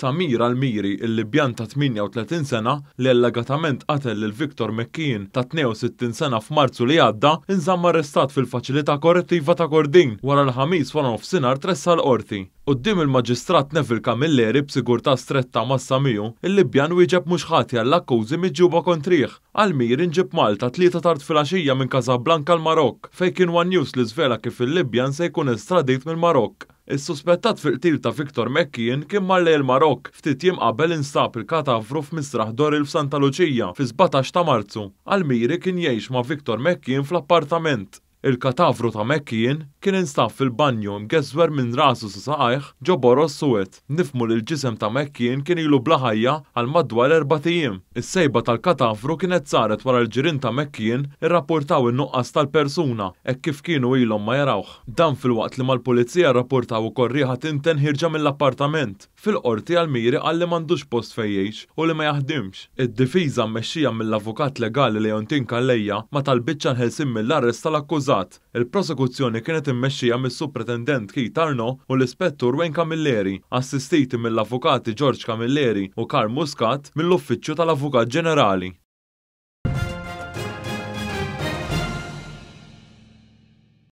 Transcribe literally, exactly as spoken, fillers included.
Samir Almiri, il-Libjan ta' tmienja u tletin sena li allegatament qatel lil Victor McKeon ta' tnejn u sittin sena f'Marzu li għadda, inżamm arrestat fil-faċilità korrettiva ta' Kordin wara l-Ħamis wara nofsinhar tressaq l-qorti. Quddiem il-Maġistrat Neville Camilleri, b'sigurtà stretta ma' Samiju, il-Libjan wieġeb mhux ħati għall-akkużi miġjuba kontrih. Almiri nġib Malta tlieta tard filgħaxija minn Casablanca l-Marokk, fejn kien One News li żvela kif il-Libjan se jkun estradit mill-Marokk. Is-suspettat fil-qtil ta' Victor McKeon kien mar lejn il-Marokk ftit jiem qabel instab il-katavru f'Misraħ Doril f'Santa Luċija fi sbatax ta' Marzu. Almiri kien jgħix ma' Victor McKeon fl-appartament. Il-katavru ta' McKeon kien instab fil-banju mgeżwer minn rasu sa saqajh ġo boroż suwed. Nifhmu li l-ġisem ta' McKeon kien ilu bla ħajja għal madwar erbat ijiem. Is-sejba tal-katavru kienet saret wara l-ġirien ta' McKeon irrapportaw in-nuqqas tal-persuna hekk kif kienu ilhom ma jarawh. Dan filwaqt li mal-pulizija rrapportaw ukoll riħa tinten ħierġa mill-appartament. Fil-qorti Almiri qal li m'għandux post fejn jgħix u li ma jaħdimx. Id-difiża mmexxija mill-avukat legali Leontin Calleja ma talbitx għall-ħelsien mill-arrest tal-akkużat. Il-prosekuzzjoni kienet immexxija mis-Supretendent Keith Arnaud u l-Ispettur Wayne Camilleri, assistiti mill-avukati George Camilleri u Karl Muscat mill-Uffiċċju tal-Avukat Ġenerali.